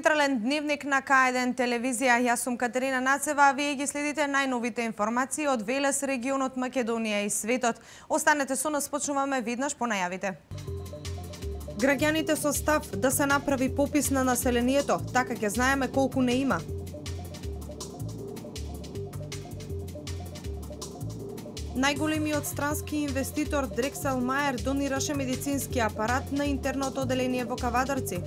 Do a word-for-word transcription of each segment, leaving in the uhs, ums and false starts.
Централен дневник на К еден телевизија. Јас сум Катерина Нацева, а вие ги следите најновите информации од Велес, регионот Македонија и светот. Останете со нас, почнуваме веднаш по најавите. Граѓаните со став да се направи попис на населението, така ќе знаеме колку не има. Најголемиот странски инвеститор Дрексел Мајер донираше медицински апарат на интерното оделение во Кавадарци.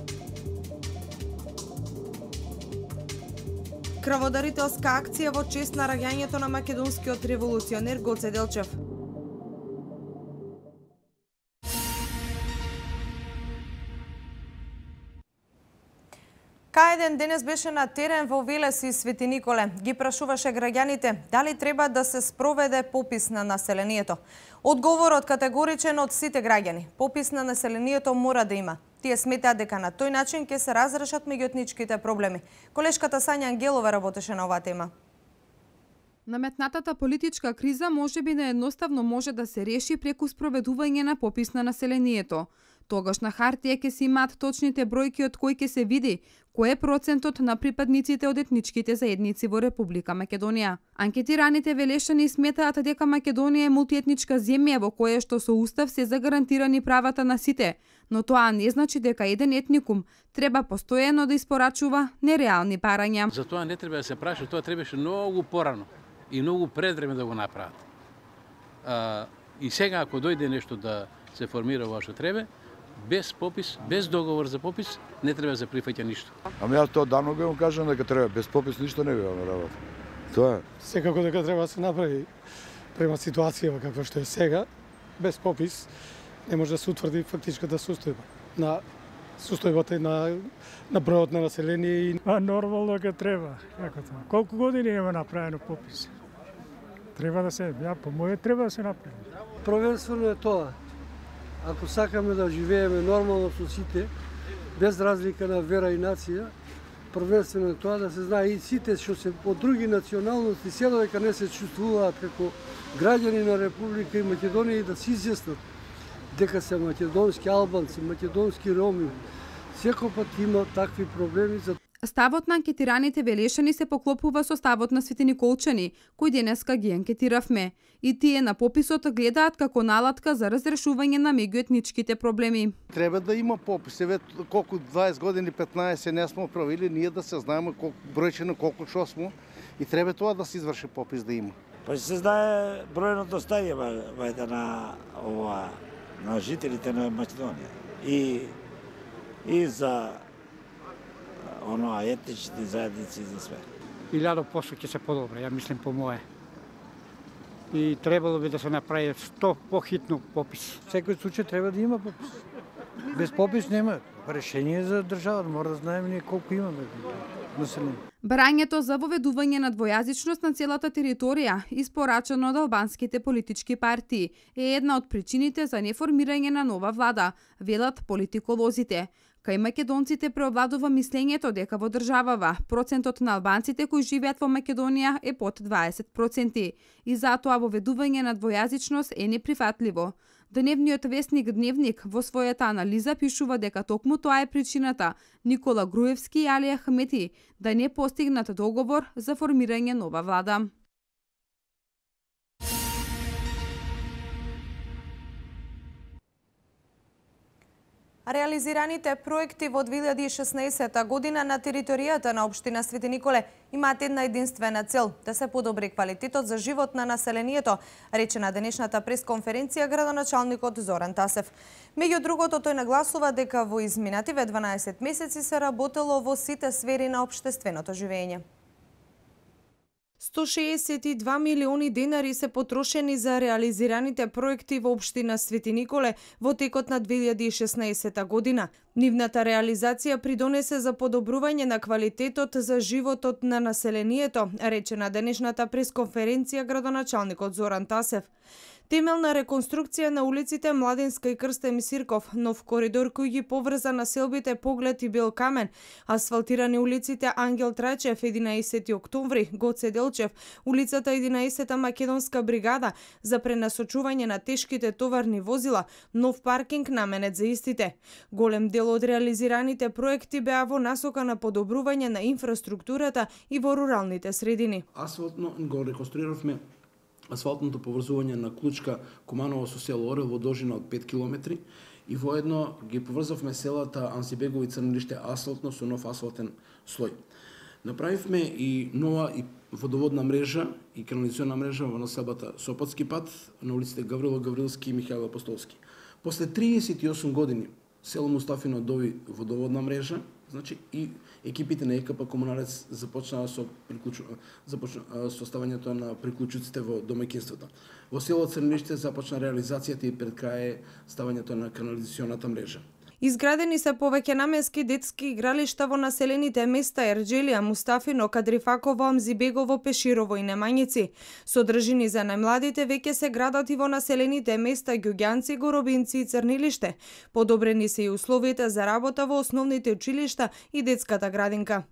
Крводарителска акција во чест на раѓањето на македонскиот револуционер Гоце Делчев. К еден денес беше на терен во Велес и Свети Николе. Ги прашуваше граѓаните дали треба да се спроведе попис на населението. Одговорот категоричен од сите граѓани. Попис на населението мора да има. Тие сметаат дека на тој начин ќе се разрешат меѓуетничките проблеми. Колешката Сања Ангелова работеше на оваа тема. Наметнатата политичка криза можеби неедноставно може да се реши преку спроведување на попис на населението. Тогаш на хартија ќе се имаат точните бројки од кои ќе се види кој е процентот на припадниците од етничките заедници во Република Македонија. Анкетираните велешани сметаат дека Македонија е мултиетничка земја во која што со устав се загарантирани правата на сите, но тоа не значи дека еден етникум треба постојано да испорачува нереални барања. За тоа не треба да се праша, тоа требаше многу порано и многу пред време да го направат. А, и сега ако дојде нешто да се формира во што треба, без попис, без договор за попис, не треба да се прифаќа ништо. Ами јас тоа давно го кажам дека треба без попис ништо не би на работа. Тоа е. Секако дека треба да се направи према ситуација каква што е сега, без попис не може да се утврди фактичката состојба на состојбата на на бројот на население и а нормално дека треба. Како тоа? Колку години нема направено попис? Треба да се, ја по моје треба да се направи. Првенствено е тоа. Ако сакаме да живееме нормално со сите, без разлика на вера и нација, првенствено е тоа да се знае и сите што се од други националности, се додека не се чувствуваат како граѓани на Република и Македонија, и да се изјаснат дека се македонски албанци, македонски роми. Секој пат има такви проблеми. За Ставот на анкетираните велешани се поклопува со ставот на светиниколчани, кои денеска ги анкетиравме. И тие на пописот гледаат како налатка за разрешување на меѓуетничките проблеми. Треба да има попис. Еве колку дваесет години, петнаесет не сме правили, ние да се знаеме колку бројчено колку што сме и треба тоа да се изврши попис да има. Па се знае бројното стање вајде на ова на жителите на Македонија. И и за оно етничните заедници и за све. Илјадо посто ќе се подобри, ја мислам по мое. И требало би да се направи сто похитно попис. Секој случај треба да има попис. Без попис нема решение за државата, мора да знаеме ние колку имаме население. Барањето за воведување на двојазичност на целата територија, испорачано од албанските политички партии, е една од причините за неформирање на нова влада, велат политиколозите. Кај македонците преовладува мислењето дека во државава процентот на албанците кои живеат во Македонија е под дваесет проценти и затоа воведување на двојазичност е неприфатливо. Дневниот весник Дневник во својата анализа пишува дека токму тоа е причината Никола Груевски и Али Ахмети да не постигнат договор за формирање нова влада. Реализираните проекти во две илјади и шеснаесета година на територијата на општина Свети Николе имаат една единствена цел – да се подобри квалитетот за живот на населението, рече на денешната пресконференција градоначалникот Зоран Тасев. Меѓу другото, тој нагласува дека во изминативе дванаесет месеци се работело во сите сфери на општественото живење. сто шеесет и два милиони денари се потрошени за реализираните проекти во општина Свети Николе во текот на две илјади и шеснаесета година. Нивната реализација придонесе за подобрување на квалитетот за животот на населението, рече на денешната пресконференција градоначалникот Зоран Тасев. Темелна реконструкција на улиците Младинска и Крстем Сирков, нов коридор кој ги поврза населбите Поглед и Белкамен, асфалтирани улиците Ангел Трачев, единаесети октомври, Гоце Делчев, улицата единаесета Македонска бригада за пренасочување на тешките товарни возила, нов паркинг наменет за истите. Голем дел од реализираните проекти беа во насока на подобрување на инфраструктурата и во руралните средини. Асфалтно го реконструиравме асфалтното поврзување на Клучка Куманово со село Орел во должина од пет километри и воедно ги поврзавме селата Ансибегово и Црнилиште асфалтно со нов асфалтен слој. Направивме и нова и водоводна мрежа и канализациона мрежа во населбата Сопотски пат на улиците Гаврило Гаврилски и Михаил Апостолски. После триесет и осум години село Мустафино доби водоводна мрежа, значи и екипите на ЕКП Комуналец започнаа со приклучу... започна со ставањето на приклучуците во домаќинствата. Во село Црнилиште започна реализацијата и пред крај ставањето на канализационата мрежа. Изградени се повеќе наменски детски игралишта во населените места Ерџелија, Мустафино, Кадрифаково, Амзибегово, Пеширово и Немањици. Содржини за најмладите веќе се градат и во населените места Ѓуѓанци, Горобинци и Црнилиште. Подобрени се и условите за работа во основните училишта и детската градинка.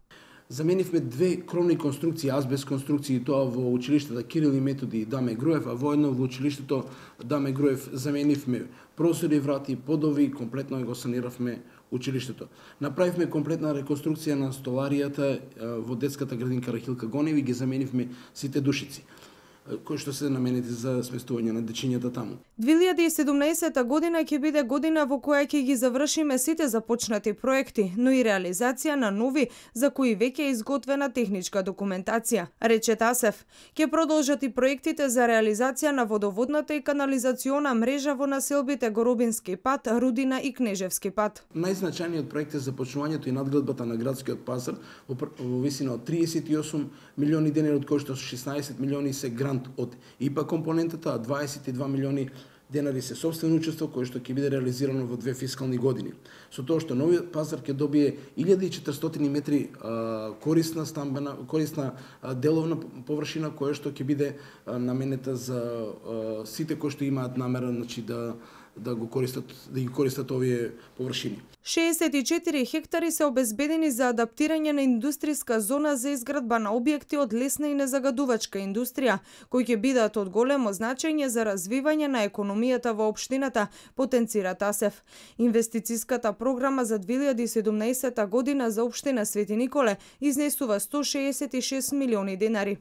Заменивме две кровни конструкции, азбест конструкции, тоа во училиштето Кирил и Методи и Даме Груев, а воедно во училиштето Даме Груев заменивме прозори, врати, подови, комплетно го саниравме училиштето. Направивме комплетна реконструкција на столаријата во детската градинка Рахилка Гоневи и ги заменивме сите душици кои што се наменети за сместување на дечињата таму. две илјади и седумнаесета година ќе биде година во која ќе ги завршиме сите започнати проекти, но и реализација на нови за кои веќе е изготвена техничка документација, рече Тасев. Ќе продолжат и проектите за реализација на водоводната и канализациона мрежа во населбите Горобински пат, Рудина и Кнежевски пат. Најзначајниот проект е започнувањето и надградбата на градскиот пазар во висина од триесет и осум милиони денари, од кои што шеснаесет милиони се грант од ИПА компонентата, а дваесет и два милиони денари се собствено учество кој што ќе биде реализирано во две фискални години. Со тоа што новиот пазар ќе добие илјада и четиристотини метри а, корисна стамбена, корисна а, деловна површина која што ќе биде а, наменета за а, сите кои што имаат намера, значи да да го користат, да ги користат овие површини. шеесет и четири хектари се обезбедени за адаптирање на индустријска зона за изградба на објекти од лесна и незагадувачка индустрија, кои ќе бидат од големо значење за развивање на економијата во општината, потенцира Тасев. Инвестициската програма за две илјади и седумнаесета година за општина Свети Николе изнесува сто шеесет и шест милиони денари.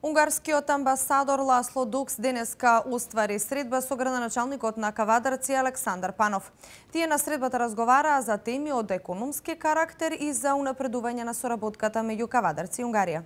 Унгарскиот амбасадор Ласло Дукс денеска оствари средба со градоначалникот на Кавадарци Александар Панов. Тие на средбата разговараа за теми од економски карактер и за унапредување на соработката меѓу Кавадарци и Унгарија.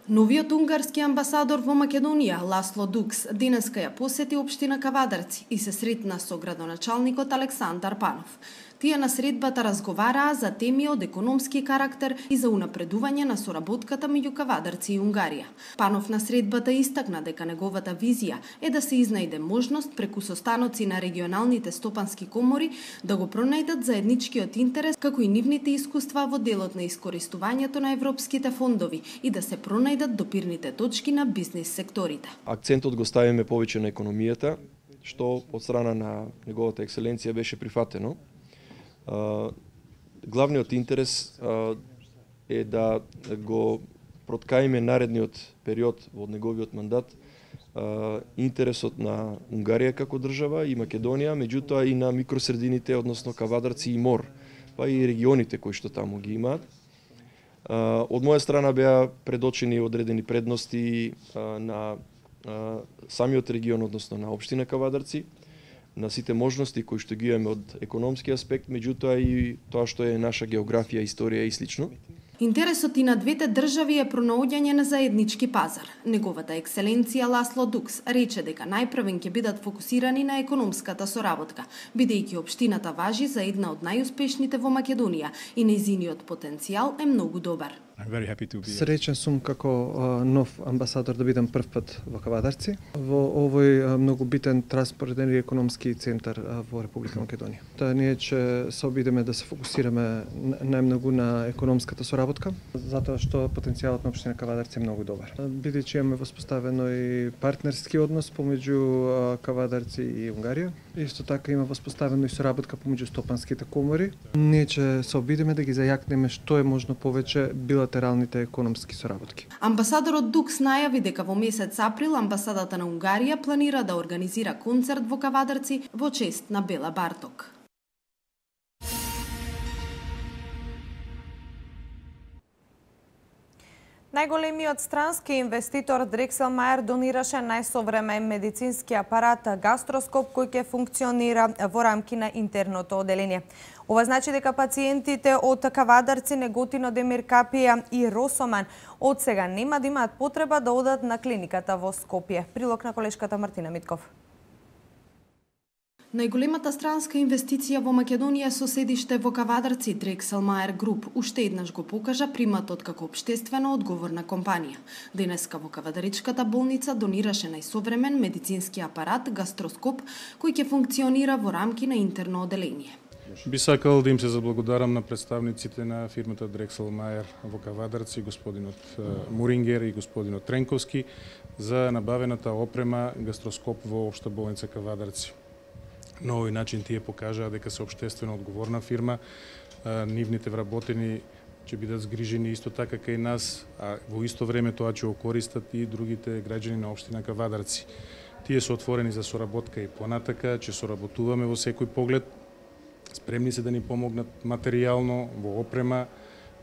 Новиот унгарски амбасадор во Македонија, Ласло Дукс, денеска ја посети општина Кавадарци и се сретна со градоначалникот Александар Панов. Тие на средбата разговараа за теми од економски карактер и за унапредување на соработката меѓу Кавадарци и Унгарија. Панов на средбата истакна дека неговата визија е да се изнајде можност преку состаноци на регионалните стопански комори да го пронајдат заедничкиот интерес, како и нивните искуства во делот на искористувањето на европските фондови и да се пронајдат допирните точки на бизнис секторите. Акцентот го ставиме повеќе на економијата, што од страна на неговата екселенција беше прифатено. Uh, главниот интерес uh, е да го проткаиме наредниот период во неговиот мандат uh, интересот на Унгарија како држава и Македонија, меѓутоа и на микросредините, односно Кавадарци и Мор, па и регионите кои што таму ги имаат. Uh, од моја страна беа предочени одредени предности uh, на uh, самиот регион, односно на општина Кавадарци, на сите можности кои што ги имаме од економски аспект, меѓутоа и тоа што е наша географија, историја и слично. Интересот и на двете држави е пронаоѓање на заеднички пазар. Неговата екселенција Ласло Дукс рече дека најпрвен ќе бидат фокусирани на економската соработка, бидејќи општината важи за една од најуспешните во Македонија и нејзиниот потенцијал е многу добар. Среќен сум како нов амбасадор да бидам прв пат во Кавадарци. Во овој многу битен транспортен и економски центар во Република Македонија. Та ние ќе се обидеме да се фокусираме најмногу на економската соработка, затоа што потенцијалот на општина Кавадарци е многу добар. Бидејќи имаме воспоставено и партнерски однос помеѓу Кавадарци и Унгарија, исто така има воспоставено и соработка помеѓу стопанските комори. Ние ќе се обидеме да ги зајакнеме што е можно повеќе билатералните економски соработки. Амбасадорот Дукс најави дека во месец април амбасадата на Унгарија планира да организира концерт во Кавадарци во чест на Бела Барток. Најголемиот странски инвеститор Дрекселмајер донираше најсовремен медицински апарат гастроскоп кој ќе функционира во рамки на интерното оделение. Ова значи дека пациентите од Кавадарци, Неготино, Демиркапија и Росоман од сега нема да имаат потреба да одат на клиниката во Скопје. Прилог на колешката Мартина Митков. Најголемата странска инвестиција во Македонија со седиште во Кавадарци, Дрекселмајер Груп, уште еднаш го покажа приматот како општествено одговорна компанија. Денеска во Кавадаричката болница донираше најсовремен медицински апарат гастроскоп кој ќе функционира во рамки на интерно оделение. Би сакал да им се заблагодарам на представниците на фирмата Дрекселмајер во Кавадарци, господинот Мурингер и господинот Тренковски, за набавената опрема гастроскоп во Општа болница Кавадарци. На овој начин тие покажаа дека се општествено одговорна фирма, нивните вработени ќе бидат згрижени исто така кај нас, а во исто време тоа ќе окористат и другите граѓани на општина Кавадарци. Тие се отворени за соработка и понатака, ќе соработуваме во секој поглед, спремни се да ни помогнат материјално во опрема,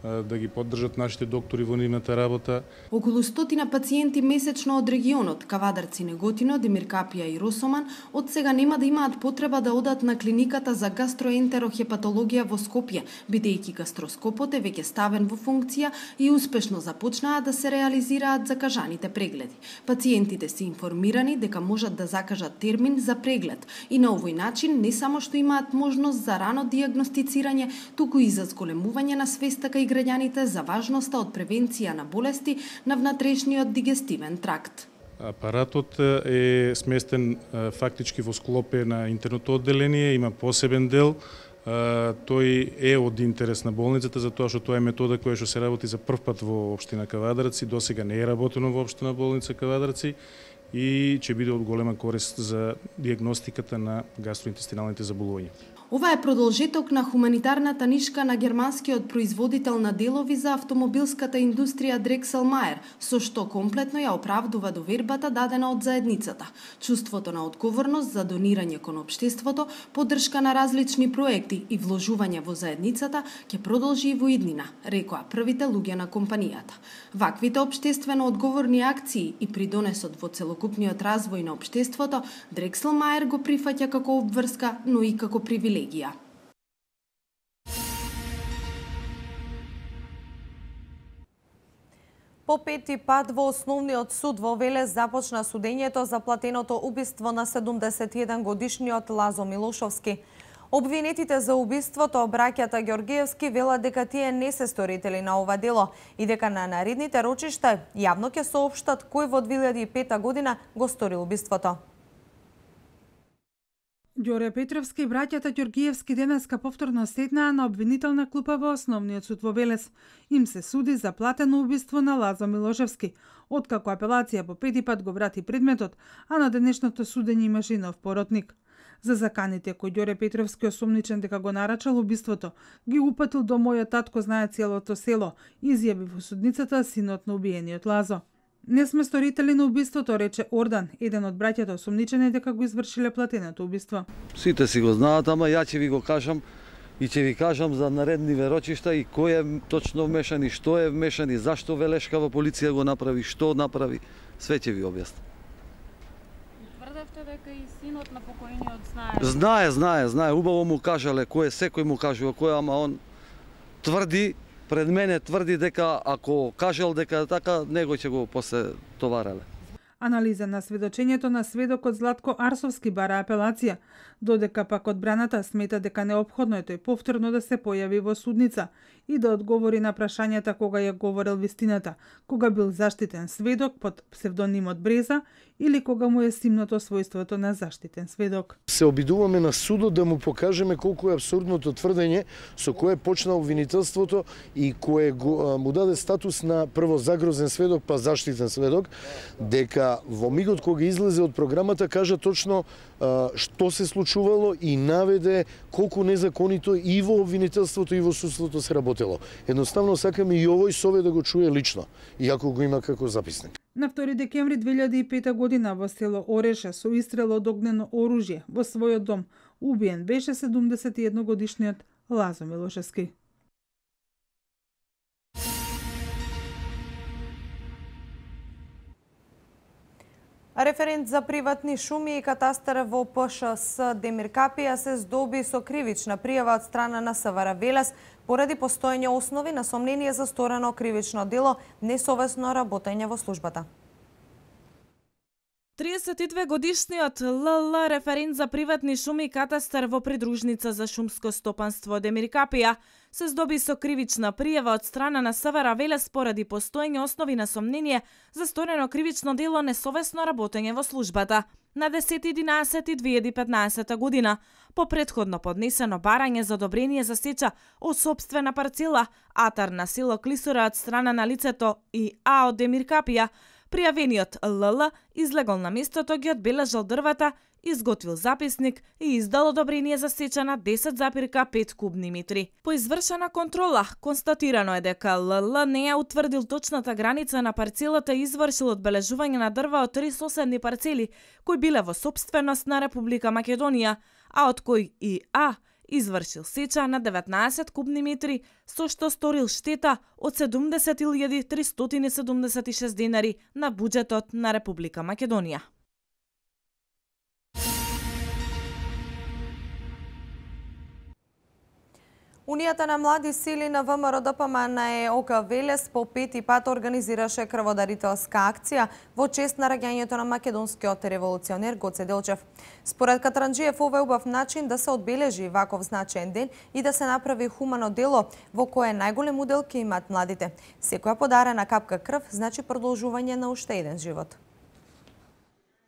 да ги поддржат нашите доктори во нивната работа. Околу стотина пациенти месечно од регионот Кавадарци, Неготино, Демиркапија и Росоман од сега нема да имаат потреба да одат на клиниката за гастроентерохепатологија во Скопје, бидејќи гастроскопот е веќе ставен во функција и успешно започнаа да се реализираат закажаните прегледи. Пациентите се информирани дека можат да закажат термин за преглед и на овој начин не само што имаат можност за рано дијагностицирање, туку и за зголемување на свеста кај граѓаните за важноста од превенција на болести на внатрешниот дигестивен тракт. Апаратот е сместен фактички во склопе на интерното одделение, има посебен дел. Тој е од интерес на болницата затоа што тоа е метода која што се работи за прв пат во општина Кавадарци, досега не е работено во општина болница Кавадарци и ќе биде од голема корист за дијагностиката на гастроинтестиналните заболувања. Ова е продолжеток на хуманитарната нишка на германскиот производител на делови за автомобилската индустрија Дрекселмајер, со што комплетно ја оправдува довербата дадена од заедницата. Чувството на одговорност за донирање кон општеството, поддршка на различни проекти и вложување во заедницата ќе продолжи и во иднина, рекоа првите луѓе на компанијата. Ваквите општествено одговорни акции и придонесот во целокупниот развој на општеството, Дрекселмајер го прифаќа како обврска, но и како привилегија. По пети пат во Основниот суд во Велес започна судењето за платеното убиство на седумдесет и еден годишниот Лазо Милошовски. Обвинетите за убиството, браќата Ѓоргиевски, велат дека тие не се сторители на ова дело и дека на наредните рочишта јавно ќе соопштат кој во две илјади и пета година го стори убиството. Ѓоре Петровски и браќата Ѓоргиевски денеска повторно седнаа на обвинителна клупа во Основниот суд во Велес. Им се суди за платено убиство на Лазо Милошевски, откако апелација по пети пат го врати предметот, а на денешното судење имаше и нов поротник. За заканите кој Ѓоре Петровски осомничен дека го нарачал убиството, ги упатил до мојот татко знае целото село, изјави во судницата синот на убиениот Лазо. Не сме сторители на убиството, рече Ордан, еден од браќата осомничени дека го извршиле платеното убиство. Сите си го знаат, ама ја ќе ви го кажам и ќе ви кажам за наредни верочишта и кој е точно вмешан и што е вмешан и зашто Велешкава полиција го направи, што направи, све ќе ви објаснам. Тврдевте дека и синот на покојниот знае. Знае, знае, знае, убаво му кажале кој е, секој му кажува кој, ама он тврди, пред мене тврди дека ако кажал дека така, него ќе го после товарале. Анализа на сведочењето на сведокот Златко Арсовски бара апелација, додека пак одбраната смета дека неопходно е тој повторно да се појави во судница и да одговори на прашањата кога ја говорел вистината, кога бил заштитен сведок под псевдонимот Бреза или кога му е симното својството на заштитен сведок. Се обидуваме на судот да му покажеме колку е абсурдното тврдење со кое почна обвинителството и кое го, му даде статус на прво загрозен сведок па заштитен сведок, дека во мигот кога излезе од програмата кажа точно а, што се случувало и наведе колку незаконито и во обвинителството и во судството се работело. Едноставно сакаме и овој совет да го чуе лично, иако го има како записник. На втори декември две илјади и пета година во село Ореше со истрел од огнено оружје во својот дом убиен беше седумдесет и едногодишниот Лазо Милошевски. Референт за приватни шуми и катастар во ПШС Демир Капија се здоби со кривична пријава од страна на СВР Велес поради постоење основи на сомнение за сторено кривично дело несовесно работење во службата. триесет и две годишниот ЛЛ референт за приватни шуми и катастар во придружница за шумско стопанство Демир Капија се здоби со кривична пријава од страна на СВР Велес поради постоење основи на сомнение за сторено кривично дело несовесно работење во службата на десети единаесети две илјади и петнаесета година по претходно поднесено барање за одобрение за сеча од сопствена парцела атар на село Клисура од страна на лицето и А од Демир Капија. Пријавениот ЛЛ излегол на местото, ги одбележал дрвата, изготвил записник и издал одобрение за сеча на десет запирка пет кубни метри. По извршена контрола, констатирано е дека ЛЛ не ја утврдил точната граница на парцелата и извршил одбележување на дрва од три соседни парцели, кои биле во сопственост на Република Македонија, а од кои и А извршил сеча на деветнаесет кубни метри, со што сторил штета од седумдесет илјади тристоти седумдесет и шест денари на буџетот на Република Македонија. Унијата на млади сили на ВМРО Д П М Н Е О К Велес по пети пат организираше крводарителска акција во чест на раѓањето на македонскиот револуционер Гоце Делчев. Според Катранџиев, ова е убав начин да се одбележи ваков значаен ден и да се направи хумано дело во кое најголем удел ќе имаат младите. Секоја подарена капка крв значи продолжување на уште еден живот.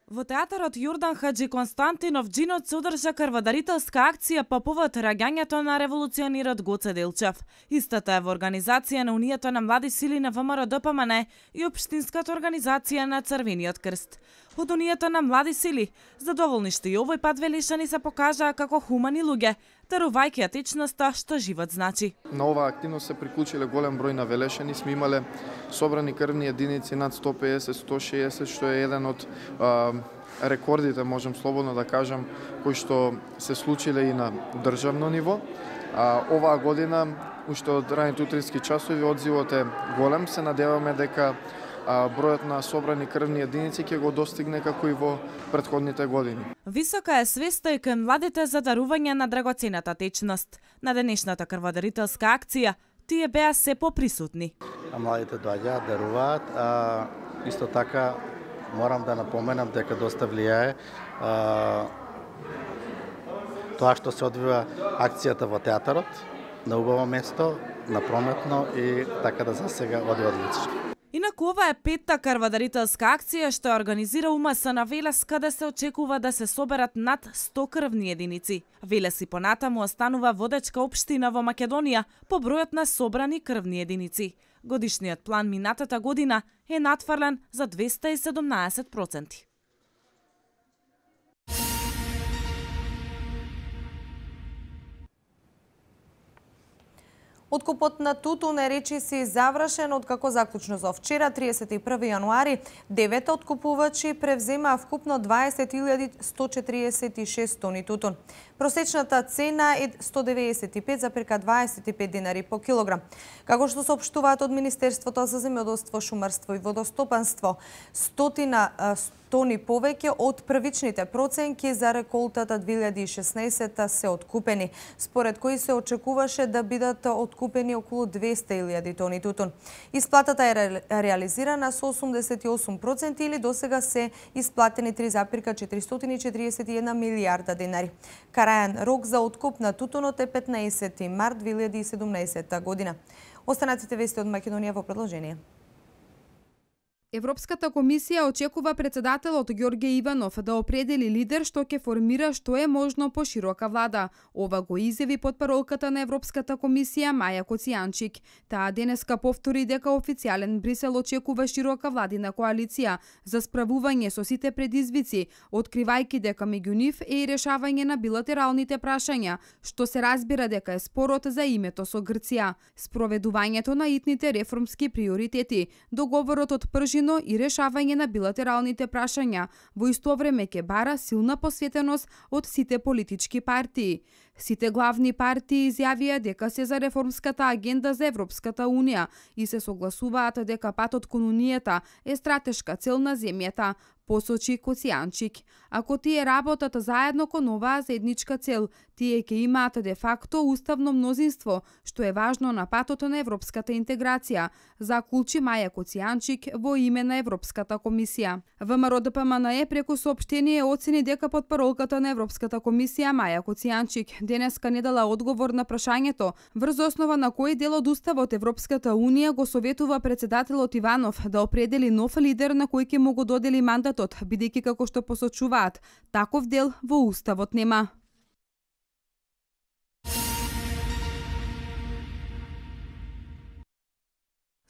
Во театарот Јордан Хаджи Константинов Джинот се одржа крводарителска акција по повод раѓањето на револуционерот Гоце Делчев. Истата е во организација на Унијата на млади сили на ВМРО Д П М Н Е и Општинската организација на Црвениот крст. Од Унијата на млади сили, задоволни што и овој пат велешани се покажаа како хумани луѓе, дарувајќи течноста што живот значи. На оваа активност се приклучиле голем број на велешани, сме имале собрани крвни единици над сто песет до сто шеесет, што е еден од а, рекордите, можем слободно да кажам, кои што се случиле и на државно ниво. А, оваа година, уште од раните утрински часови, одзивот е голем. Се надеваме дека а, бројот на собрани крвни единици ќе го достигне како и во претходните години. Висока е свеста и кај младите за дарување на драгоцената течност. На денешната крводарителска акција тие беа се поприсутни. А младите доаѓаат, даруваат, а исто така морам да напоменам дека доста влијае а, тоа што се одвива акцијата во театарот, на убаво место, на прометно и така да за сега оди одлично. Инаку ова е петта крводарителска акција што организира У М С на Велес, каде се очекува да се соберат над сто крвни единици. Велес и понатаму останува водечка општина во Македонија по бројот на собрани крвни единици. Годишниот план минатата година е надфрлен за двеста и седумнаесет проценти. Откупот на тутун е речиси завршен, откако заклучно за вчера, триесет и први јануари, девет откупувачи превземаа вкупно дваесет илјади сто четириесет и шест тони тутун. Просечната цена е сто деветдесет и пет запирка дваесет и пет денари по килограм. Како што соопштуваат од Министерството за земјоделство, шумарство и водостопанство, стотина тони повеќе од првичните проценки за реколтата две илјади и шеснаесетта се откупени, според кои се очекуваше да бидат откупени околу двесте илјади тони тутун. Исплатата е ре, реализирана со осумдесет и осум проценти или досега се исплатени три зарез четиристотини и четиридесет и една милијарда денари. Крајен рок за откуп на тутунот е петнаесети март две илјади и седумнаесетта година. Останатите вести од Македонија во продолжение. Европската комисија очекува председателот Ѓорѓе Иванов да определи лидер што ќе формира што е можно поширока влада. Ова го изјави потпаролката на Европската комисија Маја Коцијанчик. Таа денеска повтори дека официјален Брисел очекува широка владина коалиција за справување со сите предизвици, откривајќи дека меѓу нив е и решавање на билатералните прашања, што се разбира дека е спорот за името со Грција, спроведувањето на итните реформски приоритети, договорот од Пржин и решавање на билатералните прашања, во исто време ќе бара силна посветеност од сите политички партии. Сите главни партии изјавија дека се за реформската агенда за Европската Унија и се согласуваат дека патот кон Унијата е стратешка цел на земјата, посочи Коцијанчик. Ако тие работат заедно кон оваа заедничка цел, тие ќе имаат де факто уставно мнозинство, што е важно на патот на европската интеграција, закулчи Маја Коцијанчик во име на Европската комисија. ВМРО Д П М Н Е преку соопштение оцени дека потпаролката на Европската комисија Маја Коцијанчик денеска не дала одговор на прашањето врз основа на кој дел од уставот Европската Унија го советува председателот Иванов да определи нов лидер на кој ќе му го додели мандатот, бидејќи како што посочуваат, таков дел во уставот нема.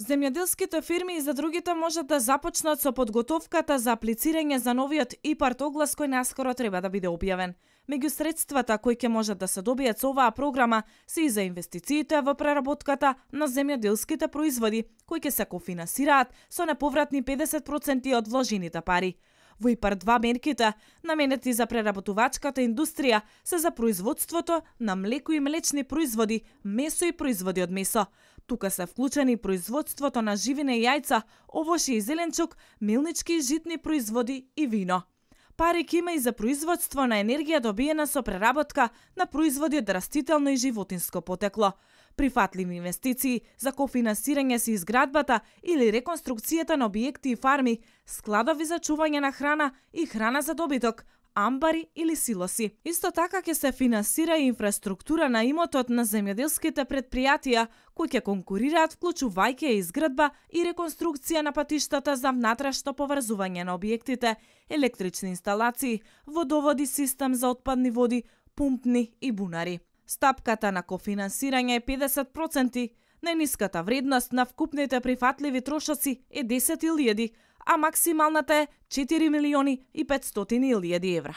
Земјоделските фирми и за другите можат да започнат со подготовката за аплицирање за новиот ИПАРД оглас кој наскоро треба да биде објавен. Меѓу средствата кои ќе можат да се добијат со оваа програма се и за инвестициите во преработката на земјоделските производи, кои ќе се кофинансираат со неповратни педесет проценти од вложените пари. Во ИПАРД два мерките, наменети за преработувачката индустрија, се за производството на млеко и млечни производи, месо и производи од месо. Тука се вклучени производството на живине и јајца, овошје и зеленчук, мелнички и житни производи и вино. Пари ќе има и за производство на енергија добиена со преработка на производи од растително и животинско потекло. Прифатливи инвестиции за кофинансирање се изградбата или реконструкцијата на објекти и фарми, складови за чување на храна и храна за добиток, амбари или силоси. Исто така ќе се финансира и инфраструктура на имотот на земјоделските предпријатија кои ќе конкурираат, вклучувајќи изградба и реконструкција на патиштата за внатрешно поврзување на објектите, електрични инсталации, водоводи, систем за отпадни води, пумпни и бунари. Стапката на кофинансирање е педесет проценти, најниската вредност на вкупните прифатливи трошоци е десет илјади, а максималната е четири милиони и петстотини илјади евра.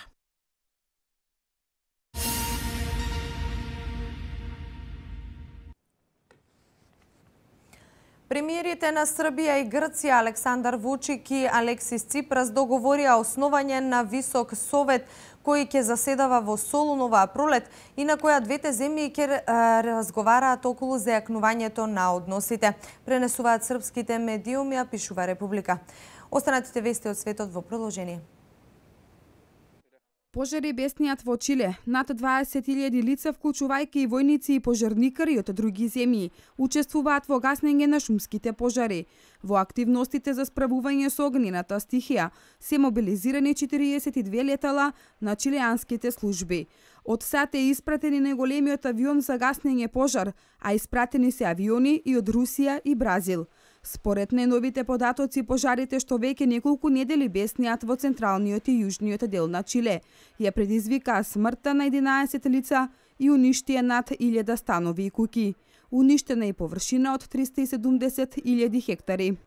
Премиерите на Србија и Грција Александар Вучик и Алексис Ципрас договорија основање на Висок совет кој ќе заседава во Солун оваа пролет и на која двете земји ќе разговараат околу зајакнувањето на односите. Пренесуваат српските медиуми, а пишува Република. Останатите вести од светот во продолжение. Пожари беснијат во Чиле. Над дваесет илјади лица, вклучувајќи и војници и пожарникари од други земји, учествуваат во гаснење на шумските пожари. Во активностите за справување со огнената стихија се мобилизирани четириесет и две летала на чилеанските служби. Од САД е испратени најголемиот авион за гаснење пожар, а испратени се авиони и од Русија и Бразил. Според најновите податоци, пожарите што веќе неколку недели бесниат во централниот и јужниот дел на Чиле ја предизвикаа смртта на единаесет лица и уништија над илјада станови и куќи. Уништена и површина од триста и седумдесет илјади хектари.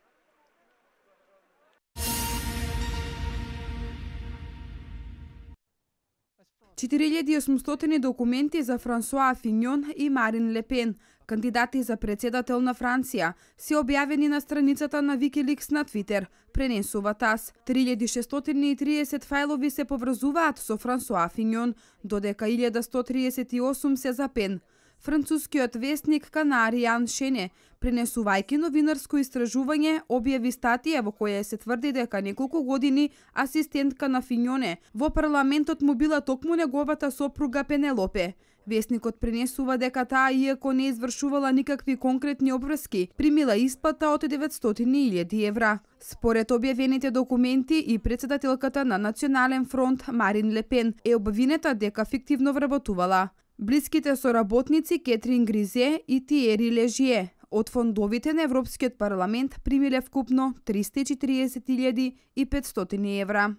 четири илјади и осумстотини документи за Франсуа Финьон и Марин Ле Пен, кандидати за председател на Франција, се објавени на страницата на Викиликс на Твитер, пренесува ТАС. три илјади шестстотини и триесет фајлови се поврзуваат со Франсуа Финьон, додека илјада сто триесет и осум се за Пен. Францускиот весник Канаријан Шене, пренесувајќи новинарско истражување, објави статија во која се тврди дека неколку години асистентка на Финьоне во парламентот му била токму неговата сопруга Пенелопе. Весникот пренесува дека таа, иако не извршувала никакви конкретни обврски, примила исплата од деветстотини илјади евра. Според објавените документи и претседателката на Национален фронт Марин Ле Пен е обвинета дека фиктивно вработувала. Блиските соработници Кетрин Гризе и Тиери Лежие од фондовите на Европскиот парламент примиле вкупно триста и четириесет илјади и петстотини евра.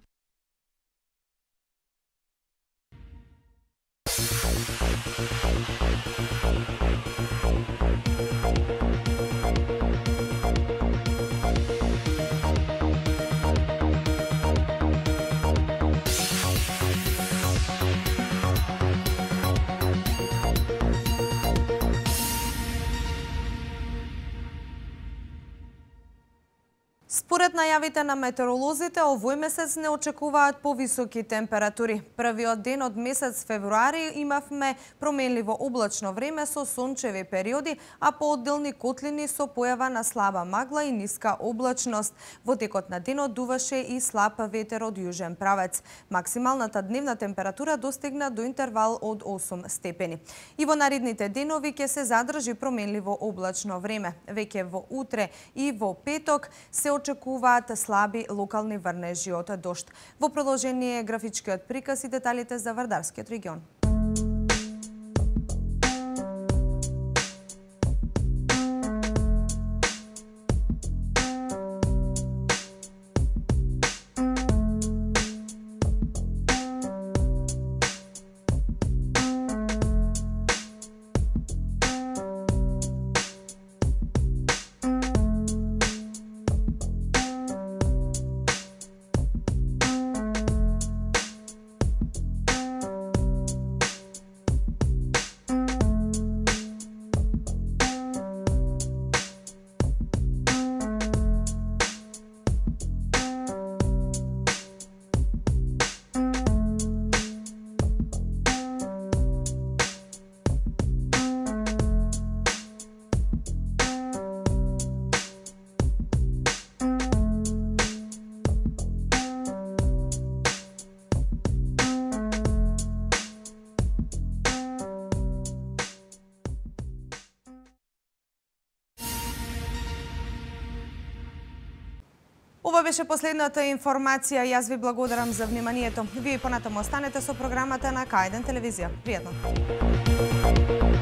Според најавите на метеоролозите, овој месец не очекуваат повисоки температури. Првиот ден од месец февруари имавме променливо облачно време со сончеви периоди, а по одделни котлини со појава на слаба магла и ниска облачност. Во текот на денот дуваше и слаб ветер од јужен правец. Максималната дневна температура достигна до интервал од осум степени. И во наредните денови ќе се задржи променливо облачно време. Веќе во утре и во петок се очекуваат слаби локални врнежи од дожд. Во продолжение е графичкиот приказ и деталите за Вардарскиот регион. Ова беше последната информација. Јас ви благодарам за вниманието. Вие понатаму останете со програмата на К еден телевизија. Пријатно!